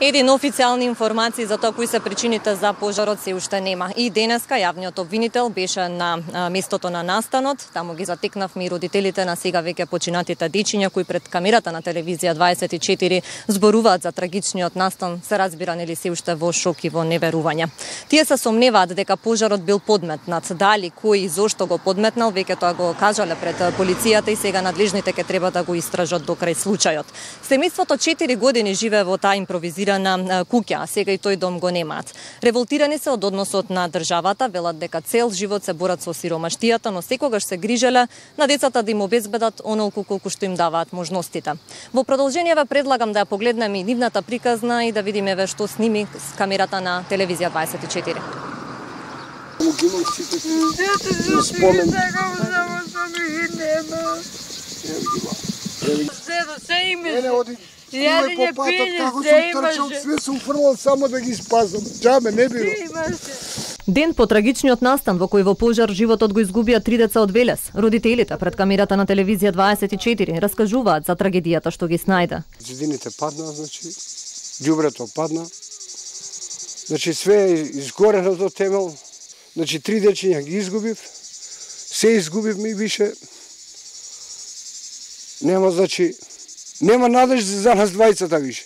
Един официјални информации за тоа кои се причините за пожарот се уште нема. И денеска јавниот обвинител беше на местото на настанот. Таму ги затекнавме и родителите на сега веќе починатите дечиња кои пред камерата на телевизија 24 зборуваат за трагичниот настан, се разбира нели се уште во шок и во неверување. Тие се сомневаат дека пожарот бил подметнат. Дали кој и зошто го подметнал, веќе тоа го кажале пред полицијата и сега надлежните ќе треба да го истражат до крај случајот. Семејството 4 години живее во таа импровизирана куќа, а сега и тој дом го немаат. Револтирани се од односот на државата, велат дека цел живот се борат со сиромаштијата, но секогаш се грижеле на децата да им обезбедат онолку колку што им даваат можностите. Во продолжение ве предлагам да ја погледнеме и нивната приказна и да видиме ве што сними с камерата на телевизија 24. Јадење, пиење, се имаше. Све се уфрлал само да ги спасам. Џабе, не било. Ден по трагичниот настан во кој во пожар животот го изгубија 3 деца од Велес, родителите пред камерата на телевизија 24 раскажуваат за трагедијата што ги снајде. Зидините падна, ѓубрето падна. Све е изгорено до темел. 3 дечиња ги изгубив. Се изгубивме и више. Нема надеж за нас двајцата више.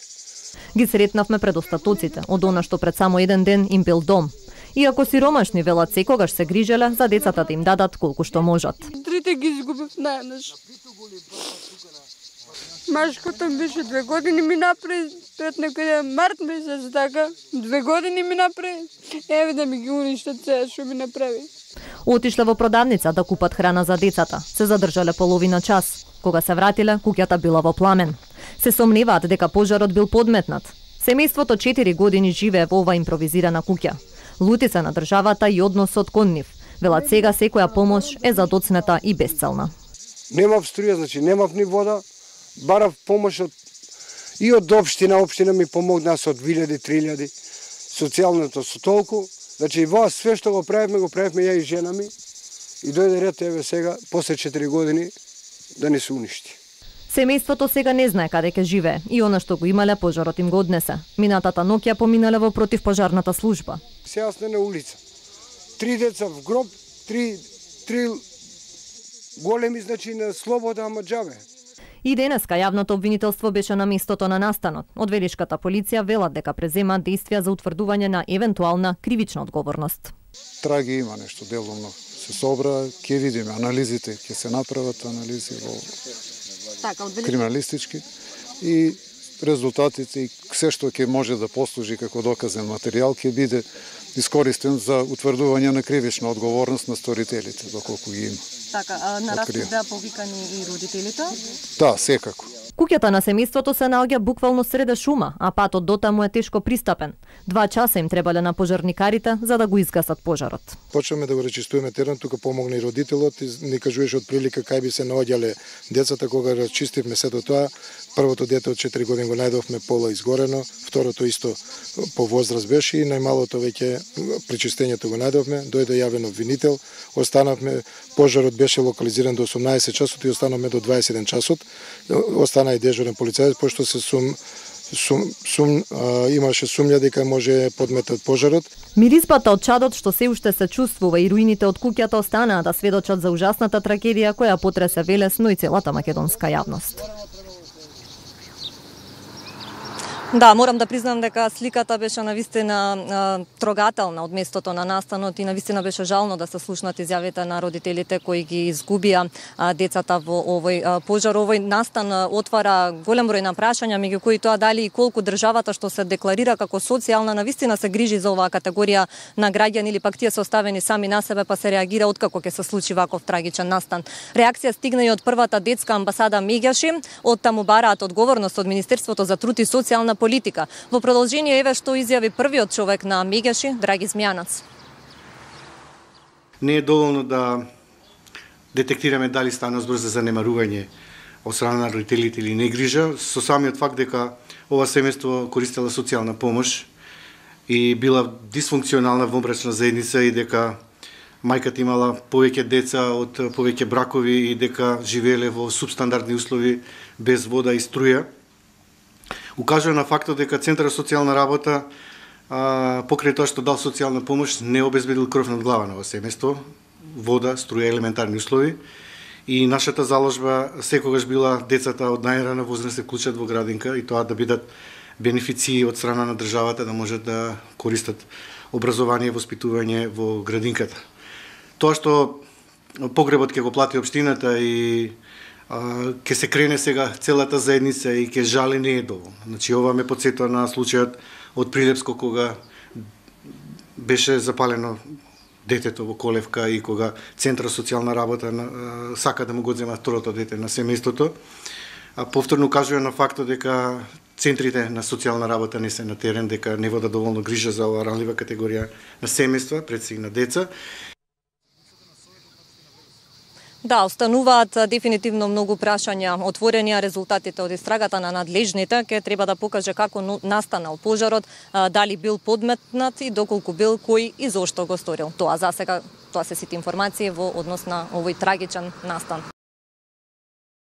Ги сретнавме пред остатоците од она што пред само еден ден им бил дом. Иако сиромашни велат секогаш се грижеле за децата да им дадат колку што можат. Трите ги изгубив наеднаш. Машкото беше 2 години ми напред, пред некаде март месец така. 2 години ми напред. Еве да ми ги уништат се што ми направи. Отишле во продавница да купат храна за децата. Се задржале половина час. Кога се вратиле, куќата била во пламен. Се сомневаат дека пожарот бил подметнат. Семејството 4 години живее во ова импровизирана куќа. Лути се на државата и односот кон нив. Велат сега секоја помош е задоцнета и безцелна. Немав струја, немав ни вода. Барав помош и од општина ми помогна со 2000-3000. Социјалното со толку. Вас све што го правевме ја и жена ми. И дојде ред еве сега, после 4 години, да не се уништи. Семејството сега не знае каде ќе живее и она што го имале пожарот им го однесе. Минатата ноќ ја поминале во противпожарната служба. Сега сме на улица. 3 деца в гроб, 3 големи на слобода, ама џабе. И денеска јавното обвинителство беше на местото на настанот. Од велишката полиција велат дека преземаат действија за утврдување на евентуална кривична одговорност. Траги има нешто делумно. Се собра, ќе видиме анализите, ќе се направат анализи во криминалистички и резултатите и се што ќе може да послужи како доказен материјал ќе биде искористен за утврдување на кривична одговорност на сторителите, доколку ги има. На разпит беа повикани и родителите? Да, секако. Куќата на семејството се наоѓа буквално среде шума, а патот дотаму е тешко пристапен. 2 часа им требале на пожарникарите за да го изгасат пожарот. Почнеме да го речистуваме терен, тука помогна и родителот и ни кажуваше од прилика кај би се наоѓале децата кога рачистивме сето тоа. Првото дете од 4 години го најдовме пола изгорено, второто исто по возраст беше и најмалото веќе причистењето го најдовме, дојде јавен обвинител, останавме, пожарот беше локализиран до 18 часот и останавме до 21 часот. Остана и дежурен полицаец, пошто се имаше сумња дека може подметат пожарот. Мириспата од чадот што се уште се чувствува и руините од куќата останаа да сведочат за ужасната трагедија која потресе Велес, но и целата македонска јавност. Да, морам да признам дека сликата беше навистина трогателна од местото на настанот и навистина беше жално да се слушнат изјавите на родителите кои ги изгубија децата во овој пожар. Овој настан отвара голем број на прашања, меѓу кои тоа дали и колку државата што се декларира како социјална навистина се грижи за оваа категорија на граѓани или пак тие се оставени сами на себе па се реагира откако ќе се случи ваков трагичен настан. Реакција стигна и од првата детска амбасада Меѓаши, од таму бараат одговорност од Министерството за труд и социјална политика. Во продолжение еве што изјави првиот човек на Меѓаши, Драги Змјанац. Не е доволно да детектираме дали стана збор за занемарување од страна на родителите или негрижа, со самиот факт дека ова семејство користела социјална помош и била дисфункционална вонбрачна заедница и дека мајката имала повеќе деца од повеќе бракови и дека живееле во субстандардни услови без вода и струја. Укажува на фактот дека Центарот за социјална работа покрај тоа што дал социјална помош не обезбедил кров над глава на ова семејство, вода, струја, елементарни услови. И нашата заложба секогаш била децата од најрана возраст се вклучат во градинка и тоа да бидат бенефиции од страна на државата да можат да користат образование и воспитување во градинката. Тоа што погребот ќе го плати општината и ќе се крене сега целата заедница и ќе жали не е доволно. Значи ова ме потсетува на случајот од Прилепско кога беше запалено детето во колевка и кога Центар за социјална работа сака да му го земат второто дете на семејството. Повторно кажува на фактот дека центрите на социјална работа не се на терен, дека не вода доволно грижа за оваа ранлива категорија на семејства, пред се и на деца. Да, остануваат дефинитивно многу прашања отворени, а резултатите од истрагата на надлежните ќе треба да покаже како настанал пожарот, дали бил подметнат и доколку бил, кој и зошто го сторил. Тоа засега, тоа се сите информации во однос на овој трагичен настан.